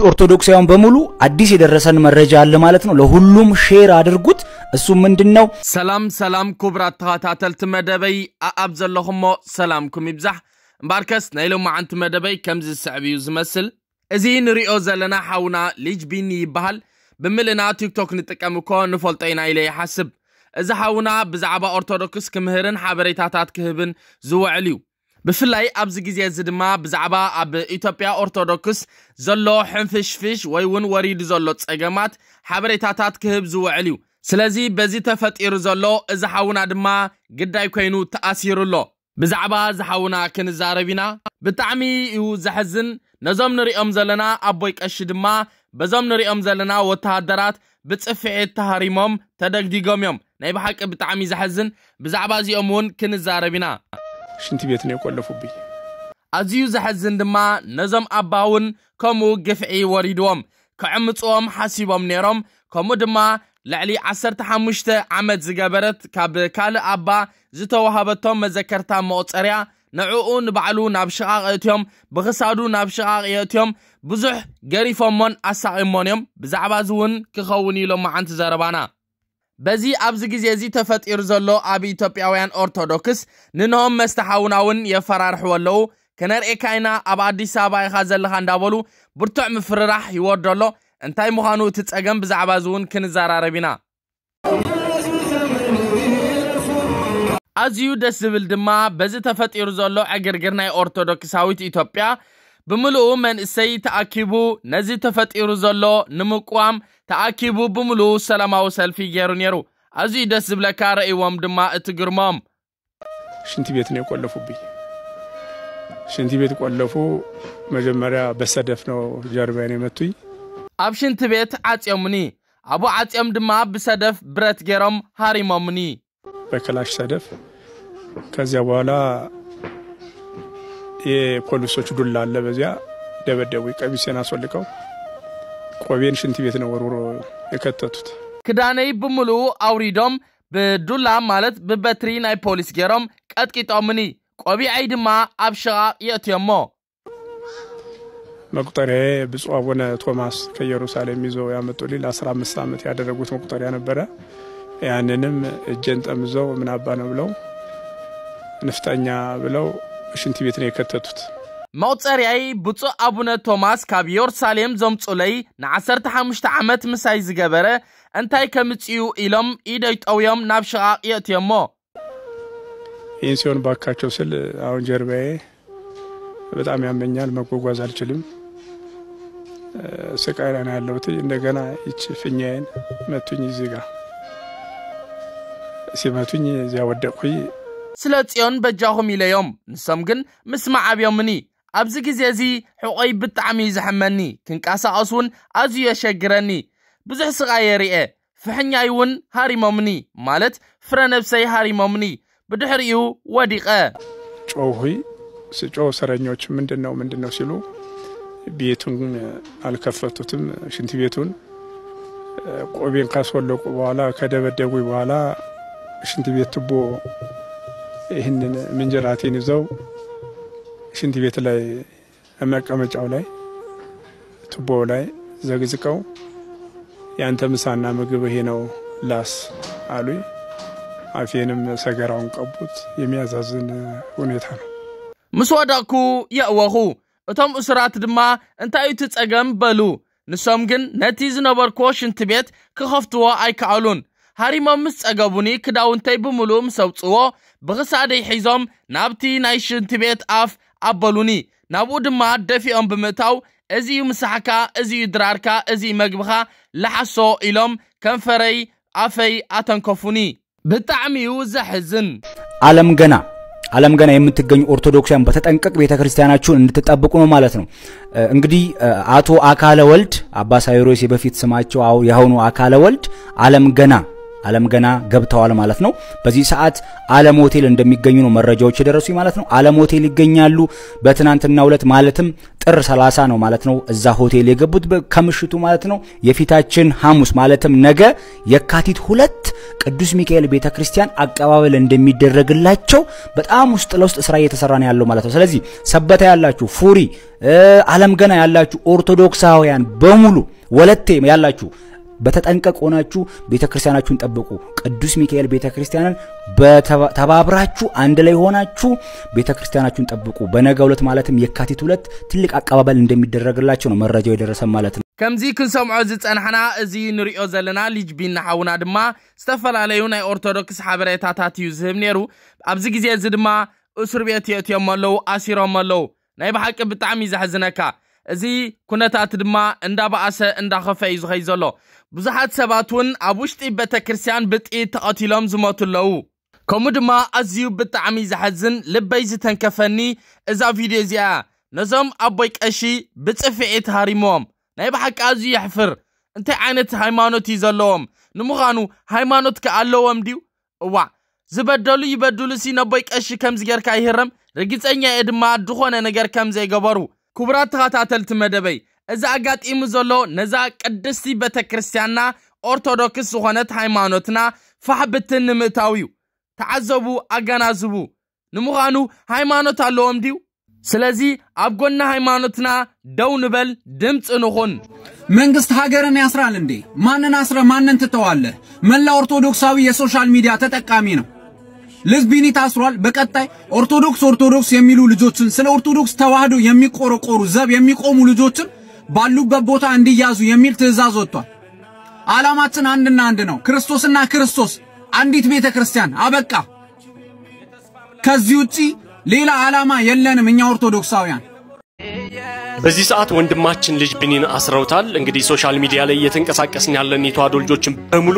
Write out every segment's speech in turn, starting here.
ኦርቶዶክሳውያን በሙሉ አዲስ የደረሰን መረጃ አለ ማለት ነው። ለሁሉም ሼር አድርጉት። እሱ ምንድን ነው? ሰላም ሰላም፣ ክቡራት ተኸታተልቲ መደበይ፣ ኣኣብ ዘለኹሞ ሰላምኩም ይብዛሕ። እምበኣርከስ ናይ ሎማዓንቲ መደበይ ከምዚ ዝስዕብ እዩ ዝመስል። እዚ ንሪኦ ዘለና ሓውና ሊጅ ቢኒ ይበሃል። ብምልእና ቲክቶክ ንጥቀም እኮ ንፈልጦ ኢና ኢለ ይሓስብ። እዚ ሓውና ብዛዕባ ኦርቶዶክስ ክምህርን ሓበሬታታት ክህብን ዝውዕል እዩ። ብፍላይ ኣብዚ ግዜ እዚ ድማ ብዛዕባ ኣብ ኢትዮጵያ ኦርቶዶክስ ዘሎ ሕንፍሽፍሽ ወይ እውን ወሪዱ ዘሎ ጸገማት ሓበሬታታት ክህብ ዝውዕል እዩ። ስለዚ በዚ ተፈጢሩ ዘሎ እዚ ሓውና ድማ ግዳይ ኮይኑ ተኣሲሩ ኣሎ። ብዛዕባ እዚ ሓውና ክንዛረብ ኢና። ብጣዕሚ እዩ ዘሕዝን። ነዞም ንሪኦም ዘለና ኣቦይ ቀሺ ድማ በዞም ንሪኦም ዘለና ወተሃደራት ብጽፍዒት ተሃሪሞም ተደግዲጎም እዮም። ናይ ብሓቂ ብጣዕሚ ዘሕዝን። ብዛዕባ እዚኦም እውን ክንዛረብ ኢና። ሽንቲ ቤት ነው የቆለፉብኝ። ኣዝዩ ዘሕዝን ድማ ነዞም ኣባ እውን ከምኡ ግፍዒ ወሪድዎም። ክዕምፅዎም ሓሲቦም ነይሮም። ከምኡ ድማ ልዕሊ ዓሰርተ ሓሙሽተ ዓመት ዝገበረት ካብ ካልእ ኣባ ዝተዋሃበቶም መዘከርታ መቑፀርያ ንዕኡ ንባዕሉ ናብ ሽቓቕ የእትዮም፣ ብኽሳዱ ናብ ሽቓቕ የእትዮም፣ ብዙሕ ገሪፎሞን ኣሳቒሞን እዮም። ብዛዕባ እዚ እውን ክኸውን እዩ ሎማዓንቲ ዘረባና። በዚ ኣብዚ ግዜ እዚ ተፈጢሩ ዘሎ ኣብ ኢትዮጵያውያን ኦርቶዶክስ ንንሆም መስተ ሓውና እውን የፈራርሕዎ ኣለዉ። ከነርእየካ ኢና፣ ኣብ ኣዲስ ኣበባ ኢኻ ዘለኻ እንዳበሉ ብርቱዕ ምፍርራሕ ይወርዶ ኣሎ። እንታይ ምዃኑ እቲ ጸገም ብዛዕባ እዚ እውን ክንዘራረብ ኢና። ኣዝዩ ደስ ዝብል ድማ በዚ ተፈጢሩ ዘሎ ዕግርግር ናይ ኦርቶዶክሳዊት ኢትዮጵያ ብምልኡ መንእሰይ ተኣኪቡ ነዚ ተፈጢሩ ዘሎ ንምቅዋም ተኣኪቡ ብምልኡ ሰላማዊ ሰልፊ ገይሩ ነይሩ። ኣዝዩ ደስ ዝብለካ ረእይዎም ድማ እቲ ግርሞም። ሽንት ቤት ነው የቆለፉብኝ። ሽንት ቤት ቆለፉ። መጀመሪያ በሰደፍ ነው ጀርባዬን የመቱኝ። ኣብ ሽንት ቤት ዓጽዮምኒ። ኣብኡ ዓጽዮም ድማ ብሰደፍ ብረት ገይሮም ሃሪሞምኒ። በክላሽ ሰደፍ። ከዚያ በኋላ የፖሊሶች ዱላ አለ፣ በዚያ ደበደቡኝ። ቀሚሴን አስወልቀው ቆቤን ሽንት ቤት ነው ወርውሮ የከተቱት። ክዳነይ ብምልኡ ኣውሪዶም ብዱላ ማለት ብበትሪ ናይ ፖሊስ ገይሮም ቀጥቂጦምኒ። ቆቢዐይ ድማ ኣብ ሽቓቕ የእትዮሞ። መቁጠሪያዬ ብፁዕ አቡነ ቶማስ ከኢየሩሳሌም ይዘው ያመጡልኝ ለአስራ አምስት ዓመት ያደረጉት መቁጠሪያ ነበረ። ያንንም እጄን ጠምዘው ምን አባ ነው ብለው ንፍጠኛ ብለው ሽንት ቤት ነው የከተቱት። መቑጸርያይ ብፁዕ ኣቡነ ቶማስ ካብ የሩሳሌም ዘምጹለይ ንዓሰርተ ሓሙሽተ ዓመት ምሳይ ዝገበረ እንታይ ከምጽኡ ኢሎም ኢደይ ጠውዮም ናብ ሽቓቕ የእትዮሞ። ይህን ሲሆን ባካቸው ስል አሁን ጀርባዬ በጣም ያመኛል፣ መጓጓዝ አልችልም። ስቃይ ላይ ነው ያለሁት። እንደገና ይቺ ፊኛዬን መቱኝ፣ እዚህ ጋር ሲመቱኝ እዚያ ወደቅኩኝ። ስለ ጽዮን በጃኹም ኢለዮም፣ ንሶም ግን ምስማዕ ኣብዮምኒ። ኣብዚ ግዜ እዚ ሕቖይ ብጣዕሚ እዩ ዘሕመኒ፣ ክንቀሳቐስ እውን ኣዝዩ የሸግረኒ። ብዙሕ ስቓይ የርኤ። ፍሕኛይ እውን ሃሪሞምኒ፣ ማለት ፍረ ነብሰይ ሃሪሞምኒ። ብድሕሪኡ ወዲቐ። ጮኹኝ። ስጮህ ሰረኞች ምንድን ነው ምንድን ነው ሲሉ ቤቱን አልከፈቱትም። ሽንት ቤቱን ቆቤን ካስወለቁ በኋላ ከደበደቡኝ በኋላ ሽንት ቤት ቱቦ ይህንን ምንጀራቴን ይዘው ሽንት ቤት ላይ መቀመጫው ላይ ቱቦው ላይ ዘግዝቀው ያንተ ምሳና ምግብ ይሄ ነው ላስ አሉኝ። አፌንም ሰገራውን ቀቡት። የሚያሳዝን ሁኔታ ነው። ምስ ወደቕኩ የእወኹ። እቶም እሱራት ድማ እንታይ እዩ እቲ ጸገም በሉ። ንሶም ግን ነቲ ዝነበርክዎ ሽንቲ ቤት ክኸፍትዎ ኣይከኣሉን። ሃሪሞም ምስ ጸገቡኒ ክዳውንተይ ብምሉእ ምስ ኣውጽዎ ብኽሳደይ ሒዞም ናብቲ ናይ ሽንቲ ቤት ኣፍ ኣበሉኒ። ናብኡ ድማ ደፊኦም ብምእታው እዚ እዩ ምሳሕካ፣ እዚ እዩ ድራርካ፣ እዚ እዩ መግብኻ፣ ለሓሶ ኢሎም ከንፈረይ ኣፈይ ኣተንከፉኒ። ብጣዕሚ እዩ ዘሕዝን። ዓለም ገና ዓለም ገና የምትገኙ ኦርቶዶክሳውያን በተጠንቀቅ ቤተክርስቲያናችሁን እንድትጠብቁ ነው ማለት ነው። እንግዲህ አቶ አካለ ወልድ አባ ሳይሮስ የበፊት ስማቸው አው ያሁኑ አካለ ወልድ ዓለም ገና ዓለም ገና ገብተዋል ማለት ነው። በዚህ ሰዓት ዓለም ሆቴል እንደሚገኙ ነው መረጃዎች የደረሱኝ ማለት ነው። ዓለም ሆቴል ይገኛሉ። በትናንትናው ዕለት ማለትም ጥር ሠላሳ ነው ማለት ነው እዛ ሆቴል የገቡት ከምሽቱ ማለት ነው። የፊታችን ሐሙስ ማለትም ነገ የካቲት ሁለት ቅዱስ ሚካኤል ቤተክርስቲያን አቀባበል እንደሚደረግላቸው በጣም ውስጥ ለውስጥ ስራ እየተሰራ ነው ያለው ማለት ነው። ስለዚህ ሰበታ ያላችሁ፣ ፉሪ፣ ዓለም ገና ያላችሁ ኦርቶዶክሳውያን በሙሉ፣ ወለቴ ያላችሁ በተጠንቀቅ ሆናችሁ ቤተክርስቲያናችሁን ጠብቁ። ቅዱስ ሚካኤል ቤተክርስቲያንን ተባብራችሁ አንድ ላይ ሆናችሁ ቤተክርስቲያናችሁን ጠብቁ። በነገ ዕለት ማለትም የካቲት ሁለት ትልቅ አቀባበል እንደሚደረግላቸው ነው መረጃው የደረሰ ማለት ነው። ከምዚ ክንሰምዖ ዝጸናሕና፣ እዚ ንሪኦ ዘለና ልጅ ቢና ሓውና ድማ ዝተፈላለዩ ናይ ኦርቶዶክስ ሓበሬታታት እዩ ዝህብ ነይሩ። ኣብዚ ግዜ እዚ ድማ እስር ቤት የእትዮም ኣለዉ፣ ኣሲሮም ኣለዉ። ናይ ብሓቂ ብጣዕሚ እዩ ዘሕዝነካ። እዚ ኩነታት ድማ እንዳበኣሰ እንዳኸፈ እዩ ዝኸይ ዘሎ። ብዙሓት ሰባት እውን ኣብ ውሽጢ ቤተ ክርስቲያን ብጥይት ተቐቲሎም ዝሞቱ ኣለዉ። ከምኡ ድማ ኣዝዩ ብጣዕሚ ዘሐዝን ልበይ ዝተንከፈኒ እዛ ቪድዮ እዚኣ እያ። ነዞም ኣቦይ ቀሺ ብጽፍዒት ሃሪሞም። ናይ ብሓቂ ኣዝዩ የሕፍር። እንታይ ዓይነት ሃይማኖት እዩ ዘለዎም? ንምዃኑ ሃይማኖት ከ ኣለዎም ድዩ? እዋዕ ዝበደሉ ይበድሉ ሲ ነቦይ ቀሺ ከምዚ ጌርካ ይህረም። ርግጸኛ እየ ድማ ዝኾነ ነገር ከም ዘይገበሩ። ክቡራት ተኸታተልቲ መደበይ፣ እዚ ኣጋጢሙ ዘሎ ነዛ ቅድስቲ ቤተ ክርስቲያንና ኦርቶዶክስ ዝኾነት ሃይማኖትና ፋሕ ብትን ንምእታው እዩ። ተዓዘቡ፣ ኣገናዝቡ። ንምዃኑ ሃይማኖት ኣለዎም ድዩ? ስለዚ ኣብ ጎኒ ሃይማኖትና ደው ንበል፣ ድምፂ ንኹን። መንግስት ሀገርን ያስራል እንዴ? ማንን አስረ ማንን ትተዋለህ? መላ ኦርቶዶክሳዊ የሶሻል ሚዲያ ተጠቃሚ ነው። ልጅ ቢኒ ታስሯል። በቀጣይ ኦርቶዶክስ ኦርቶዶክስ የሚሉ ልጆችን፣ ስለ ኦርቶዶክስ ተዋህዶ የሚቆረቆሩ ዘብ የሚቆሙ ልጆችን ባሉበት ቦታ እንዲያዙ የሚል ትዕዛዝ ወጥቷል። ዓላማችን አንድና አንድ ነው። ክርስቶስና ክርስቶስ፣ አንዲት ቤተ ክርስቲያን። አበቃ። ከዚህ ውጪ ሌላ ዓላማ የለንም እኛ ኦርቶዶክሳውያን። በዚህ ሰዓት ወንድማችን ልጅ ቢኒን አስረውታል። እንግዲህ ሶሻል ሚዲያ ላይ እየተንቀሳቀስን ያለን የተዋህዶ ልጆችን በሙሉ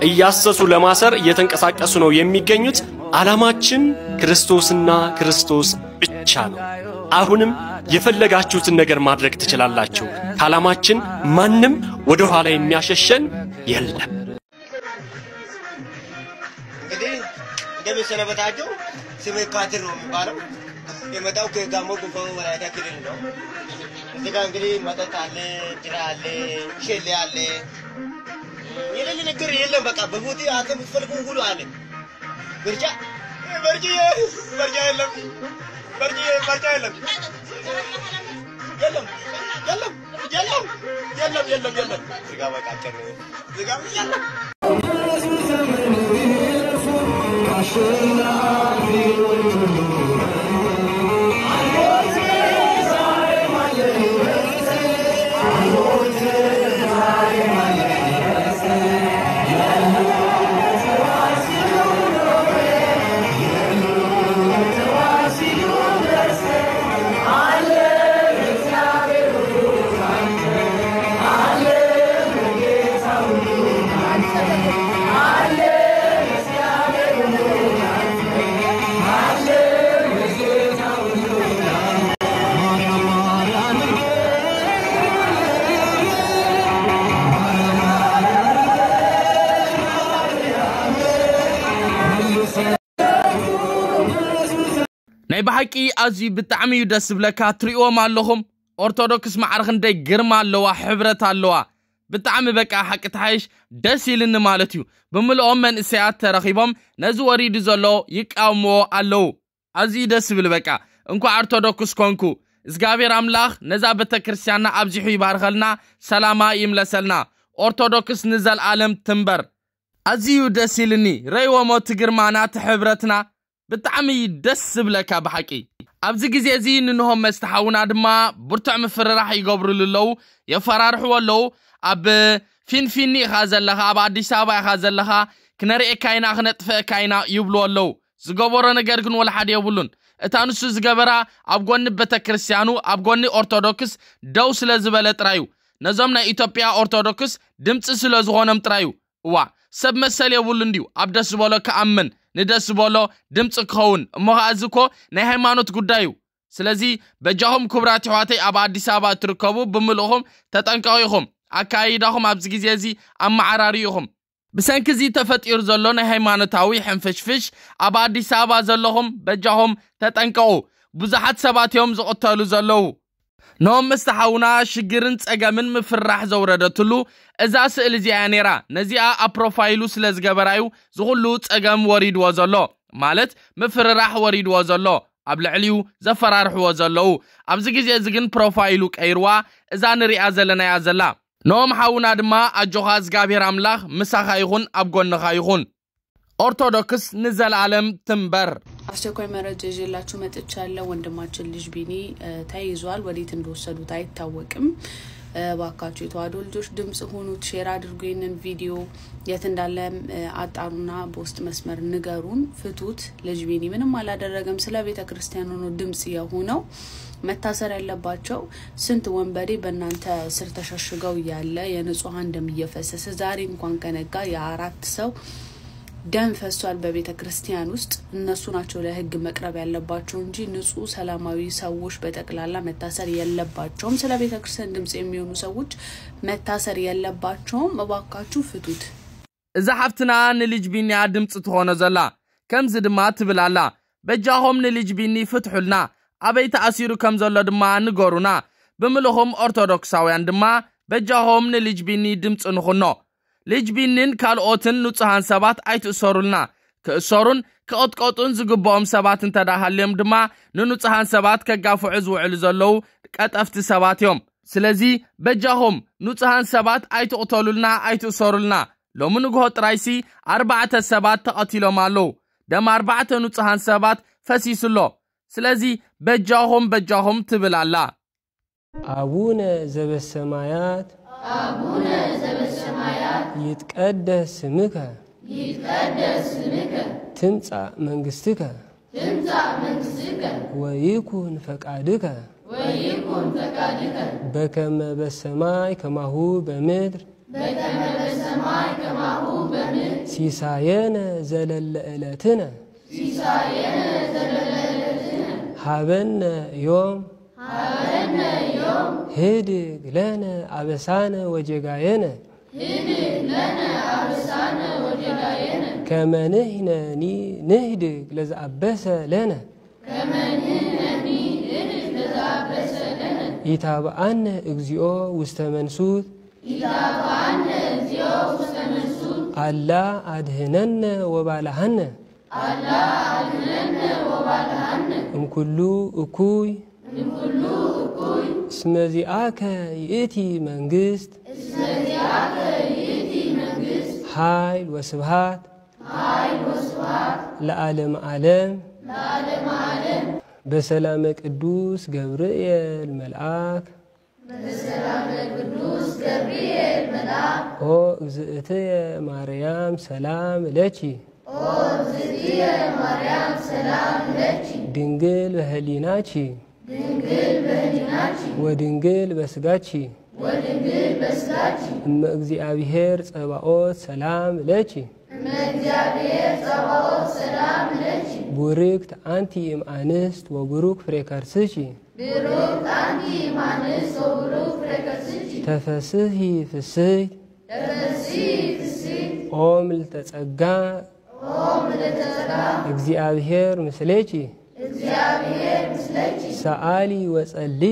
እያሰሱ ለማሰር እየተንቀሳቀሱ ነው የሚገኙት። ዓላማችን ክርስቶስና ክርስቶስ ብቻ ነው። አሁንም የፈለጋችሁትን ነገር ማድረግ ትችላላችሁ። ከዓላማችን ማንም ወደ ኋላ የሚያሸሸን የለም። እንግዲህ እንደምሰነበታቸው ስሜ ካድር ነው የሚባለው። የመጣው ከጋሞ ጎፋ ወላይታ ክልል ነው። እዚህ ጋር እንግዲህ መጠጥ አለ፣ ጅራ አለ፣ ሸሌ አለ። የሌለ ነገር የለም። በቃ በቦቴ አንተ የምትፈልገው ሁሉ አለ። በርጫ በርጫ በርጫ የለም። በርጫ በርጫ የለም። የለም የለም የለም የለም የለም የለም። ስጋ በቃ ቀረ። ስጋ የለም። ናይ ብሓቂ ኣዝዩ ብጣዕሚ እዩ ደስ ዝብለካ። ትሪእዎም ኣለኹም፣ ኦርቶዶክስ ማዕረ ክንደይ ግርማ ኣለዋ፣ ሕብረት ኣለዋ። ብጣዕሚ በቃ ሓቂ ተሓይሽ ደስ ኢልኒ ማለት እዩ። ብምልኦም መንእሰያት ተረኺቦም ነዚ ወሪዱ ዘሎ ይቃወምዎ ኣለዉ። ኣዝዩ ደስ ዝብል በቃ። እንኳዕ ኦርቶዶክስ ኮንኩ። እግዚኣብሔር ኣምላኽ ነዛ ቤተ ክርስቲያንና ኣብዚሑ ይባርኸልና፣ ሰላማ ይምለሰልና። ኦርቶዶክስ ንዘልኣለም ትንበር። ኣዝዩ ደስ ኢልኒ ረይወሞ እቲ ግርማና እቲ ሕብረትና። ብጣዕሚ ደስ ዝብለካ ብሓቂ። ኣብዚ ግዜ እዚ ንንሆም መስተ ሓውና ድማ ብርቱዕ ምፍርራሕ ይገብሩሉ ኣለዉ፣ የፈራርሕዎ ኣለዉ። ኣብ ፊንፊኒ ኢኻ ዘለኻ፣ ኣብ ኣዲስ ኣበባ ኢኻ ዘለኻ፣ ክነርእየካ ኢና፣ ክነጥፍአካ ኢና ይብሉ ኣለዉ። ዝገበሮ ነገር ግን ወላ ሓደ የብሉን። እታ ንሱ ዝገበራ ኣብ ጎኒ ቤተክርስትያኑ፣ ኣብ ጎኒ ኦርቶዶክስ ደው ስለ ዝበለ ጥራዩ። ነዞም ናይ ኢትዮጵያ ኦርቶዶክስ ድምፂ ስለ ዝኾኖም ጥራዩ። እዋ፣ ሰብ መሰል የብሉን ድዩ? ኣብ ደስ ዝበሎ ክኣምን፣ ንደስ ዝበሎ ድምፂ ክኸውን። እሞ ኸዓ እዚ እኮ ናይ ሃይማኖት ጉዳይ እዩ። ስለዚ በጃኹም ክቡራት ኣሕዋተይ ኣብ ኣዲስ ኣበባ እትርከቡ ብምልእኹም ተጠንቀቑ ኢኹም። ኣካይዳኹም ኣብዚ ግዜ እዚ ኣመዓራርዩ ኢኹም። ብሰንኪ እዚ ተፈጢሩ ዘሎ ናይ ሃይማኖታዊ ሕንፍሽፍሽ ኣብ ኣዲስ ኣበባ ዘለኹም በጃኹም ተጠንቀቑ። ብዙሓት ሰባት እዮም ዝቕተሉ ዘለዉ። ኖም፣ ምስቲ ሓውና ሽግርን ጸገምን ምፍራሕ ዘውረደትሉ እዛ ስእሊ እዚኣ እያ ነይራ። ነዚኣ ኣብ ፕሮፋይሉ ስለ ዝገበራዩ ዝኹሉ ጸገም ወሪድዎ ዘሎ፣ ማለት ምፍርራሕ ወሪድዎ ዘሎ፣ ኣብ ልዕሊኡ ዘፈራርሕዎ ዘለዉ። ኣብዚ ግዜ እዚ ግን ፕሮፋይሉ ቀይርዋ፣ እዛ ንሪኣ ዘለናያ ዘላ። ኖም ሓውና ድማ ኣጆኻ፣ እግዚኣብሔር ኣምላኽ ምሳኻ ይኹን፣ ኣብ ጎንኻ ይኹን። ኦርቶዶክስ ንዘለዓለም ትንበር። አስቸኳይ መረጃ ይዤላችሁ መጥቻለሁ። ወንድማችን ልጅ ቢኒ ተይዟል። ወዴት እንደወሰዱት አይታወቅም። እባካችሁ የተዋሕዶ ልጆች ድምፅ ሁኑት። ሼር አድርጉ ይህንን ቪዲዮ። የት እንዳለም አጣሩና በውስጥ መስመር ንገሩን፣ ፍቱት። ልጅ ቢኒ ምንም አላደረገም። ስለ ቤተ ክርስቲያን ሆኖ ድምፅ የሆነው። መታሰር ያለባቸው ስንት ወንበዴ በእናንተ ስር ተሸሽገው እያለ የንጹሐን ደም እየፈሰሰ ዛሬ እንኳን ከነጋ የአራት ሰው ደም ፈሷል በቤተ ክርስቲያን ውስጥ። እነሱ ናቸው ለህግ መቅረብ ያለባቸው እንጂ ንጹህ ሰላማዊ ሰዎች በጠቅላላ መታሰር የለባቸውም። ስለ ቤተ ክርስቲያን ድምፅ የሚሆኑ ሰዎች መታሰር የለባቸውም። እባካችሁ ፍቱት። እዛ ሓፍትና ንልጅ ቢንያ ድምፂ ትኾኖ ዘላ ከምዚ ድማ ትብል ኣላ። በጃኹም ንልጅ ቢኒ ፍትሑልና፣ ኣበይ ተኣሲሩ ከም ዘሎ ድማ ንገሩና። ብምልኹም ኦርቶዶክሳውያን ድማ በጃኹም ንልጅ ቢኒ ድምፂ ንኹኖ። ልጅ ቢኒን ካልኦትን ንጹሃን ሰባት ኣይትእሰሩልና። ክእሰሩን ክቕጥቀጡን ዝግብኦም ሰባት እንተዳ ሃልዮም ድማ ንንጹሃን ሰባት ከጋፍዑ ዝውዕሉ ዘለዉ ቀጠፍቲ ሰባት እዮም። ስለዚ በጃኹም ንጹሃን ሰባት ኣይትቕተሉልና፣ ኣይትእሰሩልና። ሎሚ ንግሆ ጥራይሲ ኣርባዕተ ሰባት ተቐቲሎም ኣለዉ። ደም ኣርባዕተ ንጹሃን ሰባት ፈሲሱ ኣሎ። ስለዚ በጃኹም በጃኹም ትብል ኣላ። አቡነ ዘበሰማያት አቡነ ዘበሰማያት ይትቀደስ ስምከ ይትቀደስ ስምከ ትምጻእ መንግስትከ ትምጻእ መንግስትከ ወይኩን ፈቃድከ ወይኩን ፈቃድከ በከመ በሰማይ ከማሁ በምድር በከመ በሰማይ ከማሁ በምድር ሲሳየነ ዘለለ ዕለትነ ሲሳየነ ዘለለ ዕለትነ ሃበነ ዮም ሃበነ ዮም ህድግ ለነ አበሳነ ወጌጋየነ ህድግ ለነ አበሳነ ወጌጋየነ ከመ ንሕነኒ ንህድግ ለዘአበሰ ለነ ከመ ንሕነኒ ንህድግ ለዘአበሰ ለነ ኢታብአነ እግዚኦ ውስተ መንሱት ኢታብአነ እግዚኦ ውስተ መንሱት አላ አድህነነ ወባልሃነ አላ አድህነነ ወባልሃነ እምኩሉ እኩይ እምኩሉ እኩይ እስመ ዚአከ ይእቲ መንግስት እስመ ዚአከ ይእቲ መንግስት ኃይል ወስብሃት ኃይል ወስብሃት ለዓለመ ዓለም ለዓለመ ዓለም በሰላመ ቅዱስ ገብርኤል መልአክ በሰላመ ቅዱስ ገብርኤል መልአክ ኦ እግዝእትየ ማርያም ሰላም ለኪ ኦ እግዝእትየ ማርያም ሰላም ለኪ ድንግል በህሊናኪ ድንግል በህሊናኪ ወድንግል በስጋኪ ወድንግል በስጋኪ እመ እግዚአብሔር ጸባኦት ሰላም ለኪ እመ እግዚአብሔር ጸባኦት ሰላም ለኪ ቡርክት አንቲ እም አንስት ወቡሩክ ፍሬ ከርስኪ ብሩክ አንቲ እም አንስት ወብሩክ ፍሬ ከርስኪ ተፈስሒ ፍስሕት ተፈስሒ ፍስሕት ኦ ምልዕተ ጸጋ ኦ ምልዕተ ጸጋ እግዚአብሔር ምስሌኪ እግዚአብሔር ምስሌኪ ሰአሊ ወጸሊ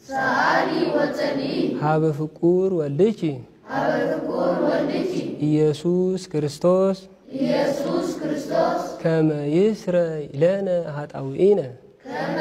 ሰአሊ ወጸሊ ሀበ ፍቁር ወልድኪ ሀበ ፍቁር ወልድኪ ኢየሱስ ክርስቶስ ኢየሱስ ክርስቶስ ከመ ይስረይ ለነ ኃጣውኢነ ከመ